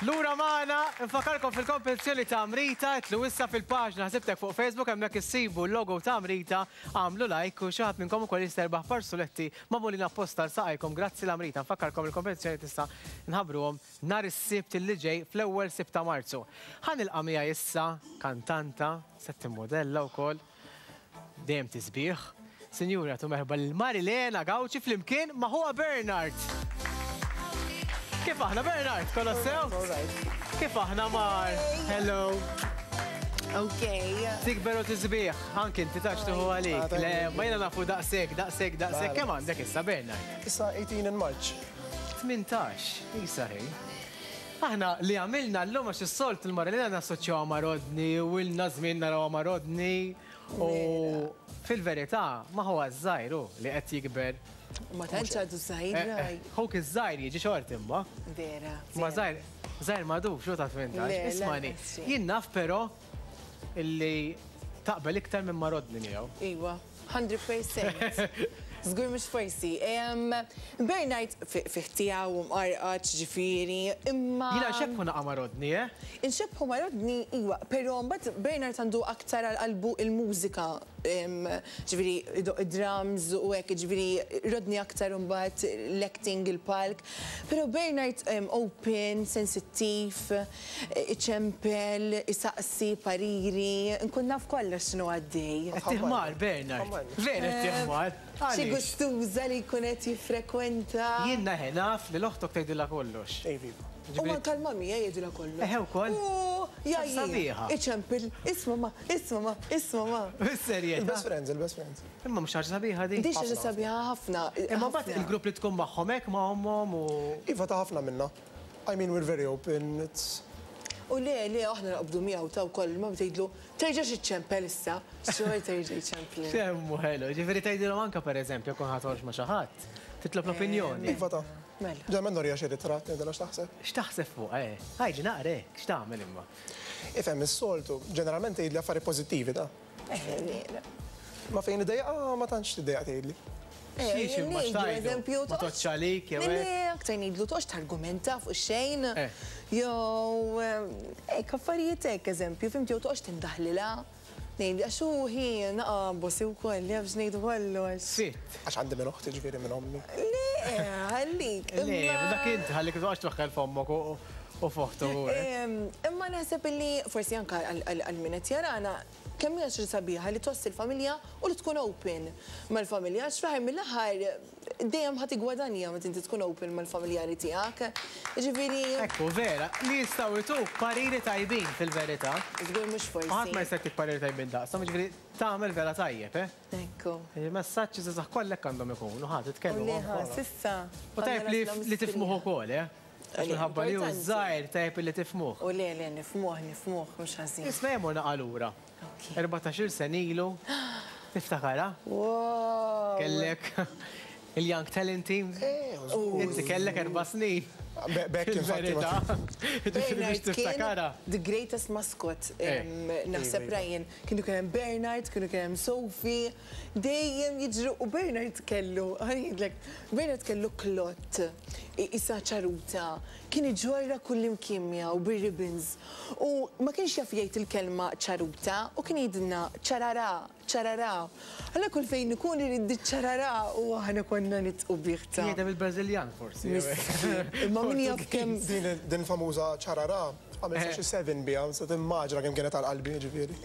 Lura magħna, nfakkarkom fil-kompetizzjoni ta' Amrita, itilgħu issa fil-paġna Ħsibtek fuq Facebook hemmhekk issibu l-logo ta' Amrita, agħmlu like u xi ħadd minnkom ukoll jista' jirbaħ par suletti magħmulin apposta għal saqajkom grazzi l-Amrita. Nfakkarkom il-kompetizzjoni tista' nħabbruhom nhar is-Sibt li ġej fl-ewwel Sibt ta' Marzu. Ħa nilqa' miegħi issa kantanta, se timmodella wkoll. Dejjem tisbieħ. Sinjuri agħtu merħba lil Marilena Gauci flimkien ma' ħuha Bernard. Kif aħna Bernard? Kollox sew? Kif aħna Mar? Hello. Ok. Tikber u tisbieħ, anki inti tax tuħu għalik. Le, ma jiena nafu daqshekk, daqshekk, daqshekk. Kemm għandek issa Bernard? Issa 18 in March. 18, isa ħin. Aħna li għamilna llum għax is-soltu l-Marilena nassoċjawha ma' Rodney u ilna żmien narawha ma' Rodney u fil-verità ma' ħuha ż-żgħir hu li qed jikber. Ma tantx għadu żgħir raj. Ħuk iż-żgħir jiġi xort imma. Vera. Ma żgħir, żgħir m'għadux hu ta' 18. Ismagħni, jien naf però illi taqbel iktar minn ma' Rodney miegħu. Iwa. 100%. Żgur mhux forsi. Bernard fih tiegħu u mqarqaċ ġifieri, imma. Jiena nxebbħu naqa' ma' Rodney, eh? Inxebbħu ma' Rodney, iwa, però mbagħad Bernard għandu aktar għal qalbu l-mużika, ġifieri idoqq id-drums u hekk, jiġifieri Rodney aktar imbagħad l-acting, il-palk. Però Bernard open, sensittiv. Iċempel, isaqsi pariri, nkun naf kollox x'inhu għaddej. Qed tiħmar, Bernard. Vera qed tiħmar. Xi gustuża li jkun qed jiffrekwenta. Jien eħe naf li l-oħtok tgħidilha kollox. Iva. U anke l-mummy jgħidilha kollox. Eħe wkoll? U jgħajjir. Iċempel, isma' ma, isma' ma, isma' ma. Bis-serjetà? Il-best friends, il-best friends. Imma mhux ħaġa sabiħa din? Din xi ħaġa sabiħa ħafna. Imma mbagħad il-grupp li tkun magħhom hekk ma' ommhom u. Iva ta' ħafna minna. I mean we're very open, it's. U le, le, aħna naqbdu miegħu ta' wkoll, il-mamma tgħidlu, terġax iċċempel issa, xorta jerġa' jċemplilna. Kemm hu ħelu, jiġifieri tgħidilhom anke pereżempju jekk ħa toħroġ ma' xi ħadd, titlob l-opinjoni. Iva ta. Mela. Ġeneralment nuriha xi ritratt ngħidilha x'taħseb. X'taħseb fuqha, eh? Għidli naqra hekk, x'tagħmel imma? Ifhem, is-soltu, ġeneralment tgħidli affarijiet pożittivi ta. Eh, le. Ma fejn idejjaqha ma tantx tiddejjaq tgħidli. Xiex imma x'tgħidlu? Ma toqgħodx għalik jew hekk? Le, aktar ngħidlu toqgħodx targumenta fuq xejn. Jew hekk affarijiet hekk eżempju, fhimt jew toqgħodx tindaħlilha. Ngħid għax hu hi naqa' bossy wkoll, jaf x'ngħidu kollox. Sitt. Għax għandi minn oħti ġifieri minn ommi. Le, ħallik. Le, dak int ħallik toqgħodx twaħħel f'ommok u f'oħtu. Imma naħseb illi forsi anke għal min qed jarana, Kemm hija xi sabiħa li tgħożż il-familja u li tkun open mal-familja għax fl-aħħar mill-aħħar dejjem ħa tiggwadanja meta inti tkun open mal-familjari tiegħek. Jiġifieri. Hekk hu, vera. Li jistgħu jtuk pariri tajbin fil-verità. Żgur mhux forsi. U ħadd ma jista' jtik pariri tajbin daqshom, jiġifieri tagħmel vera tajjeb, eh? Hekk hu. Il-messaġġi żgħażagħ kollha hekk għandhom ikunu, ħa titkellmu U le ħa, s'issa. U tajjeb li tifhmuh ukoll, eh? Għax minħabba li hu żgħir tajjeb illi tifhmuh. U le, le, nifhmuh, nifhmuh, mhux ħażin. Isma' ejja mmur naqa' lura. 14-il sena ilu, tiftakarha? Wow! Kellek il-Young Talent Team. Inti kellek erba' snin. B'hekk infatti. Fil-verità. Ġifieri biex tiftakarha. The greatest mascot, naħseb Ryan. Kienu kien hemm Bernard, kienu kien hemm Sophie. Dejjem jiġru u Bernard kellu, ħa ngħidlek, Bernard kellu klott qisha ċaruta, kien iġorrha kullimkien miegħu bir-ribbons u ma kienx jaf jgħid il-kelma ċaruta u kien jgħidilna ċararà, ċararà. Allura kull fejn ikun irid ċararà u aħna konna nidħqu bih ta'. Jgħidha bil-Brażiljan forsi jew hekk. Miskin. Imma min jaf kemm. Din il-famuża ċararà Għamilt xi seven biha, se timmaġina kemm kienet għal qalbi, jiġifieri.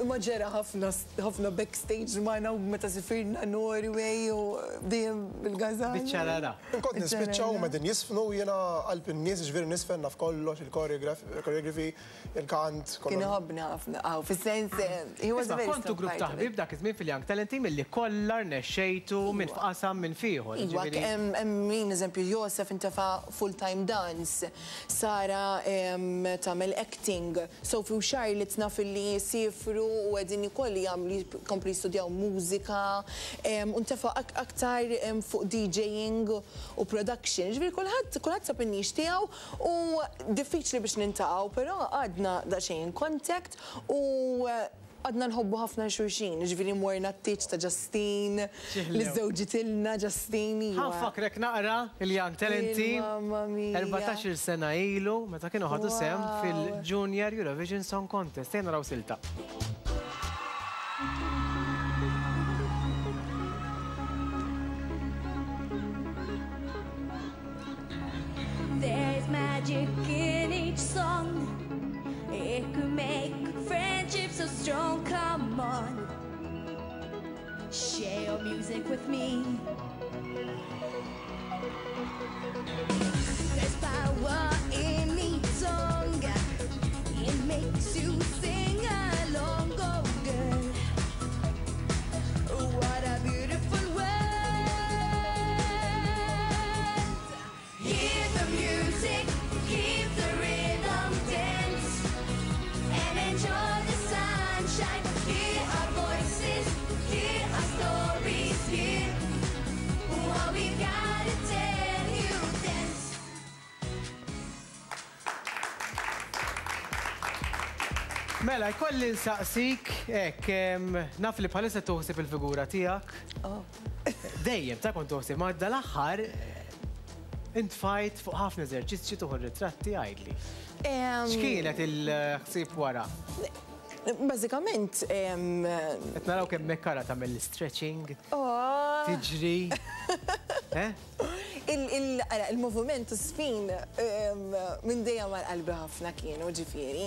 Imma ġera ħafna ħafna backstage magħna u meta sifirna Norway u dejjem bil-gażan. Biċ-ċarara. Kont nispiċċa huma qegħdin jiżfnu u jiena qalb in-nies, jiġifieri niżfen naf kollox, il-choreography, il-kant, kollox. Kien iħobbna ħafna, aw, fis-sens he was a very strong Isma' kontu grupp ta' ħbieb dak iż-żmien fil-Young Talent Team illi kollha rnexxejtu minn f'qasam minn f'ieħor, Iwa, jiġifieri. hemm min eżempju Josef intefa' full time dance. Sara tagħmel acting. Sophie u Charlotte naf illi siefru u qegħdin ukoll jagħmlu jkomplu jistudjaw mużika u ntefa' aktar fuq DJing u production. Jiġifieri kulħadd kulħadd sab in-niche tiegħu u diffiċli biex niltaqgħu però għadna daqsxejn in contact u. għadna nħobbu ħafna 'l xulxin, jiġifieri morna t-tieġ ta' Justine, li żżewġitilna Justine, iva. Ħa nfakkrek naqra il-Young Talenti 14-il sena ilu meta kienu ħadu sehem fil-Junior Eurovision Song Contest. Ejja naraw silta. There's magic in each song It could make friendship so strong Come on Share your music with me There's power in each song It makes you sing along Oh girl What a beautiful world Hear the music, keep the rhythm, dance And enjoy the sunshine Hear our voices, hear our stories Hear what we gotta tell you Dance Mela, jkolli nsaqsik, hekk, naf li bħalissa tuħsib il-figura tiegħek. Oh. Dejjem ta' kont tuħsib, ma dal-aħħar intfajt fuq ħafna eżerċizzji tuħu ritratti għidli. X'kienet il-ħsieb wara? Bażikament. Qed naraw kemm mekkara tagħmel l-stretching. Oh. Tiġri. Eh? Il-moviment u sfin minn dejjem għal qalbi ħafna kienu ġifieri.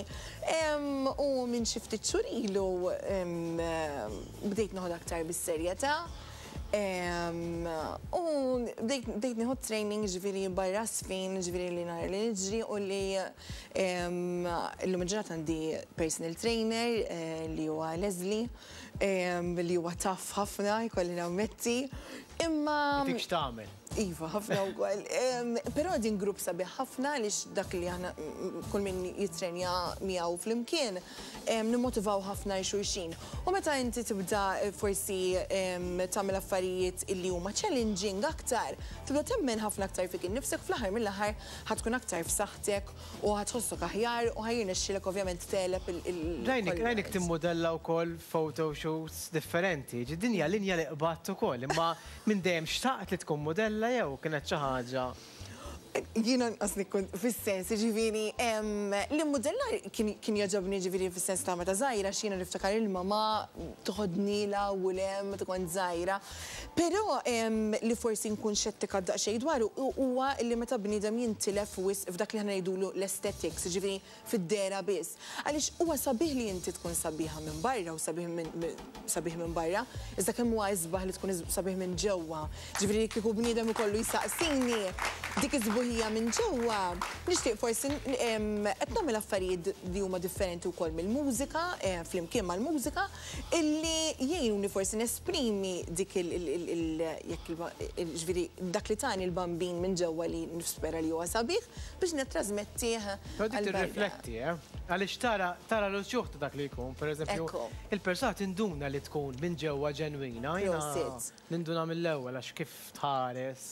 U minn xi ftit xhur ilu bdejt noħod aktar bis-serjetà. U bdejt nieħu training ġifieri barra sfin, ġifieri li nhar li niġri u li illum il-ġurnata għandi personal trainer eh, li huwa Leslie li huwa taf ħafna jkolli nammetti. Imma. Dik x'tagħmel? Iva, ħafna wkoll. Però din grupp sabiħ ħafna għaliex dak li aħna kull min jitrenja miegħu flimkien nimmotivaw ħafna 'l xulxin. U meta inti tibda forsi tagħmel affarijiet illi huma challenging aktar, tibda temmen ħafna aktar fik innifsek fl-aħħar mill-aħħar ħa tkun aktar f'saħħtek u ħa tħossok aħjar u ħa jirnexxielek ovvjament tegħleb il. Rajnik, rajnik timmudella wkoll photoshoots differenti. Ġi din hija linja li qbadt ukoll, imma minn dejjem xtaqt li tkun mudella jew kienet xi ħaġa? Jiena nqas nikkun fis-sens, jiġifieri l-immudellar kien jogħġobni jiġifieri fis-sens ta' meta żgħira għax jiena niftakar il-mamà toħodni 'l hawn u 'l hemm meta kont żgħira. Però li forsi nkun xettika daqsxejn dwaru huwa li meta bniedem jintilef wisq f'dak li aħna ngħidulu l-aesthetics, jiġifieri fid-dehra biss. Għaliex huwa sabiħ li inti tkun sabiħa minn barra u sabiħ minn sabiħ minn barra, iżda kemm huwa isbaħ li tkun sabiħ minn ġewwa. Ġifieri li kieku bniedem ikollu jsaqsini dik is-sbuħija minn ġewwa, nixtieq forsi qed nagħmel affarijiet li huma differenti wkoll mill-mużika, flimkien mal-mużika, illi jgħinuni forsi nesprimi dik il jekk ġifieri dak li tani l-Bambin minn ġewwa li nispera li huwa sabiħ biex nittrażmettih Però dik tirrifletti, eh? Għaliex tara tara l-uċuħ ta' dak li jkun, pereżempju, il-persuna tinduna li tkun minn ġewwa ġenwina. Prosit. Ninduna mill-ewwel għax kif tħares,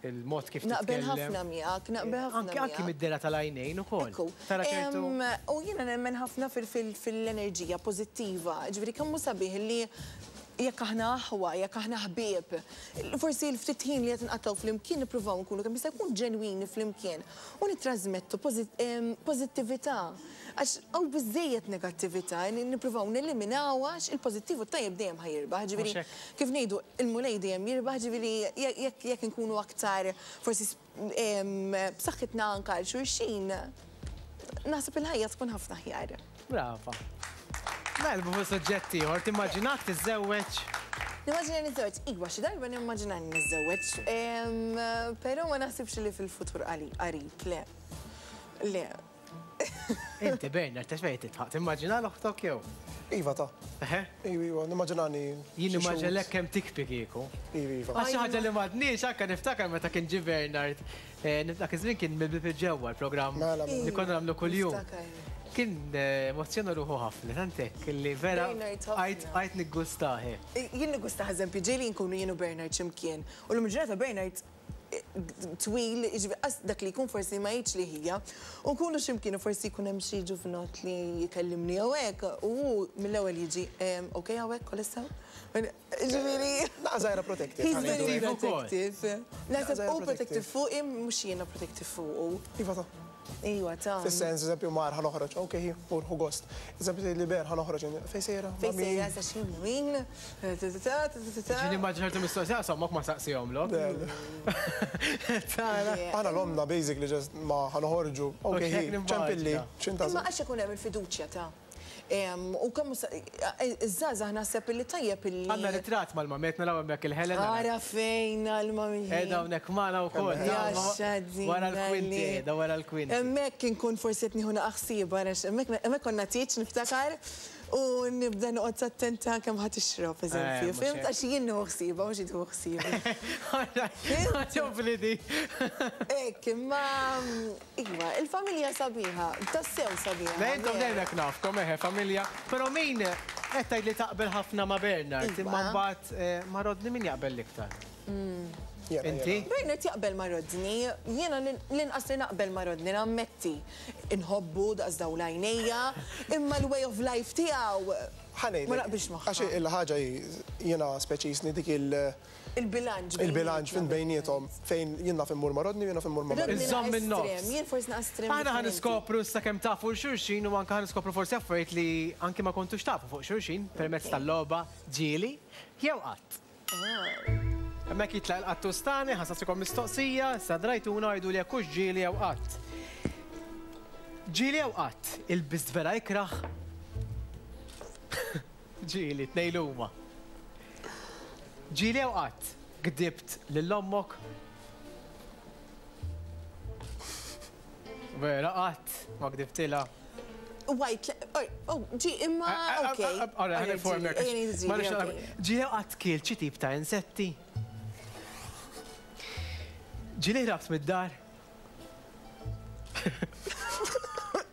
il-mod kif titkellem. Naqbel ħafna miegħek, naqbel ħafna miegħek. Anki mid-dehra tal-għajnejn ukoll. Ekku. Tara ċertu. U jiena nemmen ħafna fil-enerġija pożittiva, ġifieri kemm hu sabiħ li jekk aħna aħwa, jekk aħna ħbieb, forsi l-ftit ħin li qed nqattgħu flimkien nippruvaw nkunu kemm jista' jkun ġenwini flimkien u nittrażmettu pożittività. Għax hawn biżżejjed negattività, nippruvaw neliminawha għax il-pożittiv u t-tajjeb dejjem ħa jirbaħ. Ġifieri kif ngħidu, il-Mulej dejjem jirbaħ, ġifieri jekk inkunu aktar forsi b'saħħitna anke għal xulxin, naħseb il-ħajja tkun ħafna aħjar. Brava. Naqilbu fuq suġġett ieħor, timmaġinak tiżżewweġ? Nimmaġina niżżewweġ, iva, xi darba nimmaġina niżżewweġ, però ma naħsibx li fil-futur qarib, le. Le. Inti Bernard, ta' xejn titħaq, timmaġina l-oħtok jew? Iva ta. Eħe? Iva, iva, nimmaġinani. Jien nimmaġinalek kemm tikbi kieku. Iva, iva. Għax xi ħaġa li m'għadniex anke niftakar meta kien ġie Bernard, eh, dak iż-żmien kien mill-bieb il-ġewwa l-programm Mela, mela. li konna nagħmlu kuljum. Niftakar. Kien eh, emozzjona ruħu ħafna, tant hekk li vera Bernard ħafna. għajt għajt niggustah. eh. Jien niggustah eżempju ġieli nkunu jien u Bernard x'imkien u l-lum il-ġurnata Bernard. twil, jiġifieri qas dak li jkun forsi ma jgħidx li ħija. U nkunu xi mkien u forsi jkun hemm xi ġuvnott li jkellimni jew hekk, u hu mill-ewwel jiġi, ok hawnhekk kollox sew? Jiġifieri. Naqa' żgħira protective. He's very protective. Naħseb hu protective fuqi mhux jiena protective fuqu. Iva ta'. Iwa ta'. Fis-sens, eżempju, mar ħa noħroġ, ok, mur ħu gost. Eżempju, tgħidli Ber ħa noħroġ, fejn sejra? Fejn sejra, sa xi min? Ġieli immaġina ċertu mistoqsija, qas ommok ma saqsihomlok. Tara. Aħna l-ommna basically just ma ħa noħorġu, ok, ċempilli, x'intażel. Imma għax ikun hemm il-fiduċja ta'. U kemm iż-żgħażagħ naħseb illi tajjeb illi. Għandna ritratt mal-mamiet naraw hemmhekk il-Helena. Ara fejn għall-mamiet. Qiegħda hawnhekk magħna wkoll. Wara l-kwinti qiegħda wara l-kwinti. Hemmhekk inkun forsi qed nieħu naqa' ħsieb ara hemmhekk konna tieġ niftakar u nibda noqgħod attenta kemm ħa tixrob eżempju. Fhimt għax jien nieħu ħsiebha mhux hi tieħu ħsiebi. Għaġobni di. Hekk imma Iva, il-familja sabiħa, tassew sabiħa. Le intom dejjem hekk nafkom, eħe, familja. Però min qed tgħid li taqbel ħafna ma' Bernard, imma mbagħad ma' Rodney min jaqbel l-iktar? Inti? Bernard jaqbel ma' Rodney, jiena l-inqas li naqbel ma' Rodney, nammetti. Inħobbu daqs dawl għajnejja, imma l-way of life tiegħu ma naqbilx magħha. Għax il-ħaġa hi, jiena speċi jisni dik il- Il-bilanċ. Il-bilanċ fin bejniethom fejn jien naf immur ma' Rodney u jien naf immur ma' Marie. Iżżomm in-nofs. Jien forsi naqas estrem. Aħna ħa niskopru issa kemm tafu 'l xulxin u anke ħa niskopru forsi affarijiet li anki ma kontux tafu fuq xulxin permezz tal-logħba Ġieli jew Qatt. Hemmhekk jitlaq il-qattus tagħna, ħa nsaqsikom mistoqsija, issa drajtuna u għiduli jekk hux ġieli jew qatt. Ġieli jew qatt, ilbist vera ikrah? Ġieli, tnejn li huma. Ġieli jew qatt gdibt lil ommok? Vera qatt ma gdibtilha. White, oh, ġi, imma, ok. Ora, ħa niformek. Ġieli jew qatt kilt xi tip ta' insetti? Ġieli ħrabt mid-dar?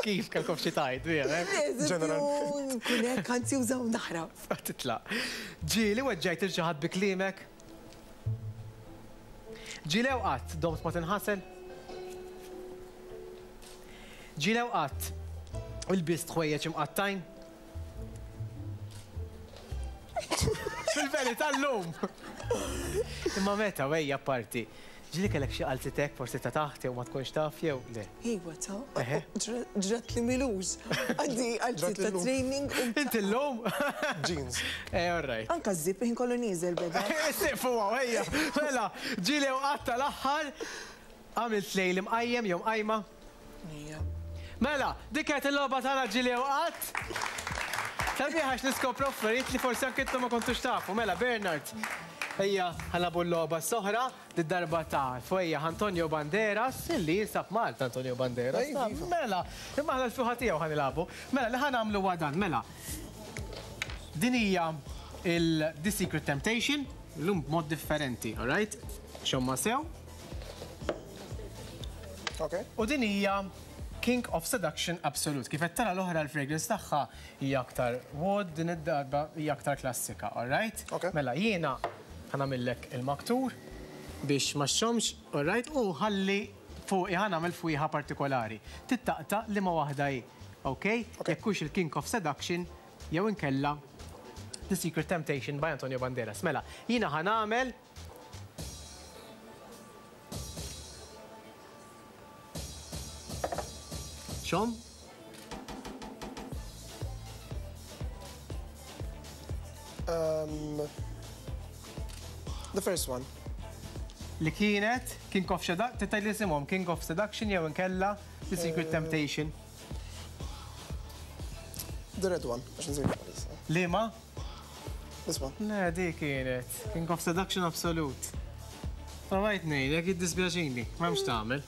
Kif kellkom xi tgħid, vera? Ġeneral. Nkun hekk anzjuża u naħrab. Titlaq. Ġieli weġġajt lil xi ħadd bi kliemek? Ġieli jew qatt domt ma tinħasel? Ġieli jew qatt ilbist ħwejjeġ imqattgħin? Fil-verità llum! Imma meta, wejja apparti. Ġieli kellek xi qalzitek forsi ta' taħt jew ma tkunx taf jew le? Iwa ta'. Ġrat li m'ilux. Għandi qalziet ta' training u. Inti llum? Jeans. Eh, all right. Anke ż-zip il-ħin kollu nieżel beda. Siqfu hawn, ejja. Mela, ġieli jew qatt tal-aħħar għamilt lejl imqajjem jew mqajma? Ejja. Mela, dik kienet il-logħba tagħna ġieli jew qatt. Sabiħ għax niskopru affarijiet li forsi anke intom ma kontux tafu. Mela, Bernard, ejja ħa nilagħbu l-logħba s-oħra. Did-darba ta' fwejjaħ Antonio Banderas, illi jinsab Malta Antonio Banderas. Mela, imma aħna l-fjuħa tiegħu ħa nilagħbu. Mela, li ħa nagħmlu huwa dan, mela. Din hija il The Secret Temptation, illum b'mod differenti, all right? Xomma sew. Ok. U din hija King of Seduction Absolute. Kif qed tara l-oħra l-fragrance tagħha hija aktar wood, din id-darba hija aktar klassika, all right? Ok. Mela jiena Ħa nagħmillek il-maktur biex ma xxommx, all right, u ħalli fuqi ħa nagħmel fwieħa partikolari. Tittaqta' liema waħda hi, ok? Jekk hux il-King of Seduction jew inkella The Secret Temptation by Antonio Banderas. Mela, jiena ħa nagħmel Xomm? Um, the first one. Li kienet King of Seduction, tittaj li isimhom King of Seduction jew inkella The Secret eh. Temptation. The red one, għax nżid Liema? This one. Le, di kienet. King of Seduction Absolute. Provajt ngħidlek, jiddispjaċini, m'hemmx tagħmel.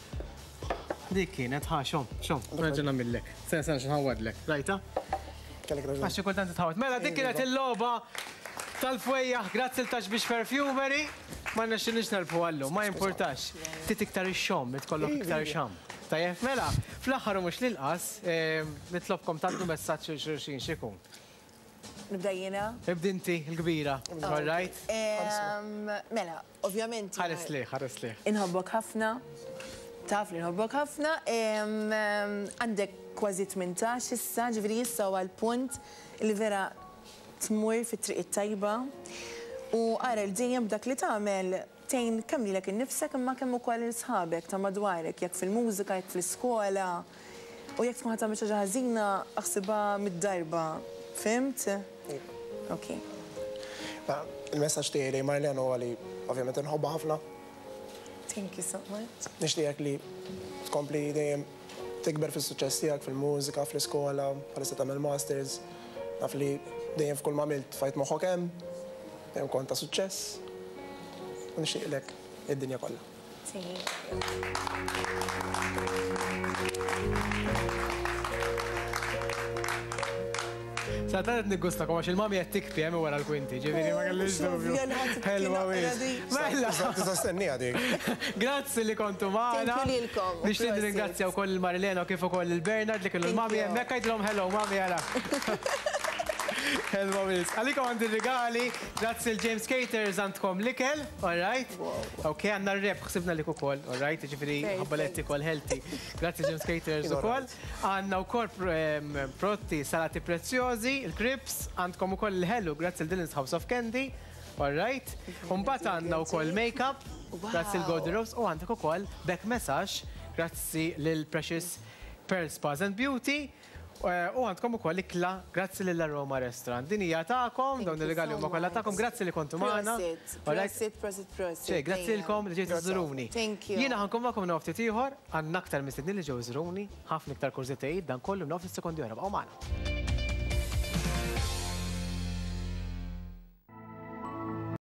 Dik kienet, ħa, xom, xom, nerġa' nagħmillek. Sena sena x'nħawwadlek. Rajta? Kellek raġun. Għax xi kultant titħawwad. Mela dik kienet il-logħba tal-fwejjaħ, grazzi l Taxbix Perfumery. Ma rnexxilniex nerbħu għallum, ma jimpurtax. Ftit iktar ixxomm, tkollok iktar xamm. Tajjeb, mela, fl-aħħar u mhux l-inqas, nitlobkom tgħaddu messaġġ lil xulxin x'ikun. Nibda jiena? Ibdi inti, il-kbira. All right? Mela, ovvjament. Ħares lejh, ħares lejh. Inħobbok ħafna. Taf li nħobbok ħafna. Għandek kważi 18 issa, ġifieri issa huwa l-punt li vera tmur fit-triq it-tajba. U ara li dejjem b'dak li tagħmel tgħin kemm lilek innifsek imma kemm ukoll lil sħabek ta' madwarek, jekk fil-mużika, jekk fl-iskola. U jekk tkun ħa tagħmel xi ħaġa ħażina, aħsibha mid-darba. Fhimt? Ok. Mela, il-messaġġ tiegħi lejn Marlene huwa li ovvjament inħobbha ħafna. Thank you so much. Nixtieqek li tkompli dejjem tikber fis-suċċess tiegħek fil-mużika, fl-iskola, bħalissa tagħmel masters. Naf li dejjem f'kull ma għamilt tfajt moħħok hemm, dejjem kont ta' suċċess. U nixtieqlek id-dinja kollha. Thank you. Sa tant qed niggustakom għax il-mami qed tikpi hemm wara l-kwinti, ġifieri ma kellix dubju. Ħelwa wisq. Mela. Tista' stenniha dik. Grazzi li kontu magħna. Thank you lilkom. Nixtieq nirringrazzja wkoll lil Marilena u kif ukoll lil Bernard li kienu l-mami hemmhekk għidilhom hello mami ara. Ħelwa wisq. Għalikom għandi rigali, grazzi l James Caters għandkom l-ikel, all right? Ok, għandna r-rep ħsibna lik ukoll, all right? Ġifieri ħabba li qed tikol healthy. Grazzi James Caters ukoll. Għandna wkoll prodotti salati prezzjożi, il-cribs, għandkom ukoll il-ħelu, grazzi l Dylan's House of Candy, all right? U mbagħad għandna wkoll make-up, grazzi l Golden Rose, u għandek ukoll back massage, grazzi lil Precious Pearl Spas and Beauty. U għandkom ukoll ikla grazzi lil Aroma Restaurant. Din hija tagħkom, dawn ir-rigali huma kollha tagħkom. Grazzi li kontu magħna. Prosit, prosit, prosit, prosit. Xejn, grazzi lilkom li ġejtu żżuruni. Thank you. Jiena ħa nkun magħkom minn hawn ftit ieħor, għandna aktar mistednin li ġew iżuruni, ħafna iktar kurżitajiet, dan kollu minn hawn ftit sekondi oħra. Bqgħu magħna.